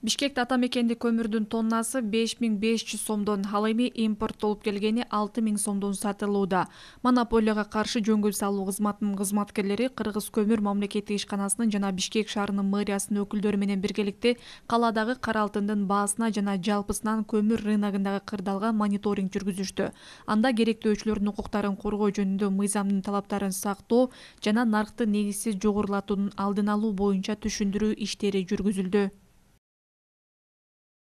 Бишкекте ата мекендик көмүрдүн тоннасы 5500 сомдон, ал эми импорттолуп келгени 6000 сомдон сатылууда. Монополияга каршы жөнгө салуу кызматынын кызматкерлери Кыргыз көмүр мамлекеттик ишканасынын жана Бишкек шаарынын мэриясынын өкүлдөрү менен биргеликте калаадагы кара алтындын баасына жана жалпысынан көмүр рыногундагы кырдаалга мониторинг жүргүзүштү. Анда керектөөчүлөрдүн укуктарын коргоо жөнүндө мыйзамдын талаптарын сактоо жана наркты негизсиз жогорулатуунун алдын алуу боюнча түшүндүрүү иштери жүргүзүлдү.